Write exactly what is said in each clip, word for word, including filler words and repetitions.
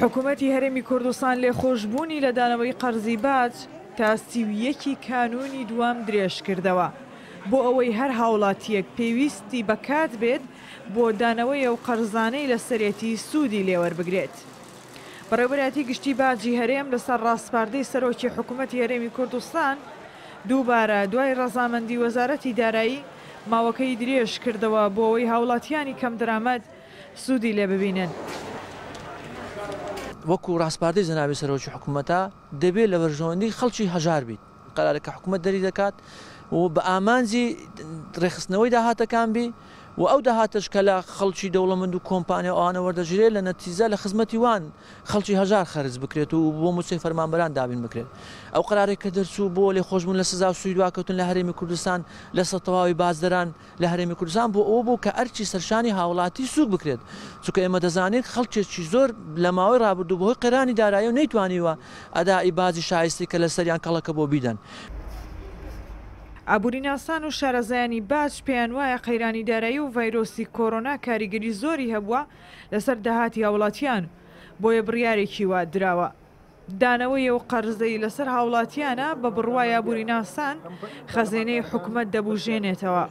حکوومەتی هەرێمی کوردستان لێخۆشبوونی لە دانەوەی قەرزی باج تا سی و یەکی کانوونی دووەم درێژ کردەوە بۆ ئەوەی هەر هاوڵاتیەک پێویستی بەکات بێت بۆ دانەوەی ئەو قەرزانەی لەسەرێتی سوودی لێوەربگرێت. بەڕێوەبەرایەتی گشتی باجی هەرێم لەسەر ڕاسپاردەی سەرۆکی حکوومەتی هەرێمی کوردستان دووبارە دوای ڕەزامەندی وەزارەتی دارایی ماوەکەی درێژ کردەوە بۆ ئەوەی هاوڵاتیانی کەمدرامەت سوودی لێ ببینن. وەکو ڕاسپاردەی جەنابی سەرۆکی حکوومەتە دەبێت لە بەرژەوەندی خەڵکی هەژار بیت. قەرارەکە حکوومەت دەری دەکات و بە ئامانجی ڕێکخستنەوەی داهاتەکان بی و ئەو داهاتەش کە لە خەڵکی دەوڵەمەند و کۆمپانیا ئەوانە وەردەگیرێت لە نەتیجە لە خزمەتی وان خەڵکی هەژار خەرج بکرێت و بۆ مووچەی فەرمانبەران دابین بکرێت. ئەو قەرارێک کە دەرچوو بۆ لێخۆشبوون لە سزا و سوودواکەوتن لە هەرێمی کوردستان لەسەر تەواوی بازدەران لە هەرێمی کوردستان بۆ ئەوە بوو کە ئەرکی سەرشانی هاوڵاتی سووک بکرێت، چونکە ئێمە دەزانین خەڵکێکی زۆر لە ماوەی ڕابردوو بەهۆی قەیرانی دارایی و نەیتوانیوە ئەدای باجی شایستی کە لەسەریان کەڵەکە بۆ بیدەن. ئابووریناسان و شارەزایانی باج پێیان وایە قەیرانی دارایی و ڤایرۆسی کۆرۆنا کاریگەری زۆری هەبووە لەسەر داهاتی هاوڵاتیان، بۆیە بڕیارێکی وا دراوە. دانەوەی ئەو قەرزەی لەسەر هاوڵاتیانە بە بڕوای ئابووریناسان خەزێنەی حکومەت دەبوژێنێتەوە،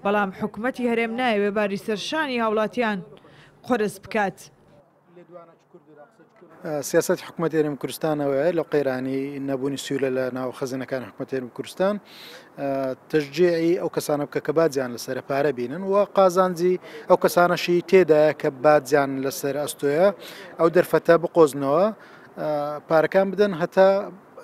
بەڵام حکومەتی هەرێم نایەوێ باری سەرشانی هاوڵاتیان قورس بکات. سیاسەتی حکوومەتی هەرێمی کوردستانەوەیە لە قەیرانی نەبوونی سوولە لە ناو خەزێنەکانی حکوومەتی هەرێمی کوردستان تەشجیعی ئەو کەسانە بکە کە باجیان لەسەر پارە بینن و قازانجی ئەو کەسانەشی تێدایە کە باجیان لەسەر ئەستۆیە ئەو دەرفەتە بقۆزنەوە پارەکان بدەن هەتا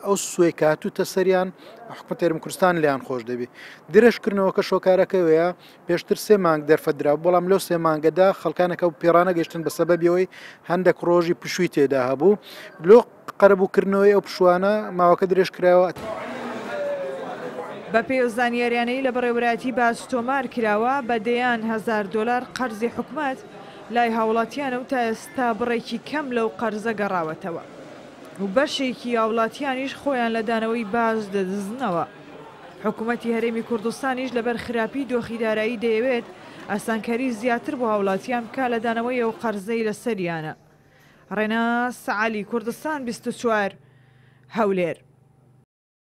ئەو سوێی کاتوتە سەریان حکوومەتی هەرێمی کوردستان لیان خۆش دەبی. درێژکردنەوەکە شۆکارەکەوەیە پێشتر سێ مانگ دەرفەت درا، بەڵام لەو سێ مانگەدا خەڵکانەکە و پێڕانەگەیشتن بە سەبەبیەوەی هەندێک ڕۆژی پشووی تێدا هەبوو. لۆ قەرەبووکردنەوەی ئەو پشوانە ماوەکە درێژ کراوە. بە پێی زانیاریانەی لە بەڕێوەبەرایەتی باج تۆمار کراوە بە دەیان هەزار دۆلار قەرزی حکومەت لای هاوڵاتیانە و تا ئێستا بڕێکی کەم لەو قەرزە گەڕاوەتەوە و بەشێکی هاوڵاتیانیش خۆیان لە دانەوەی باج دەدزنەوە. حکوومەتی هەرێمی کوردستانیش لەبەر خراپی دۆخی دارایی دەیەوێت ئاسانکاری زیاتر بۆ هاوڵاتیان بکا لە دانەوەی ئەو قەرزەی لەسەریانە. ڕێناس عەلی، کوردستان بیست و چوار، هەولێر.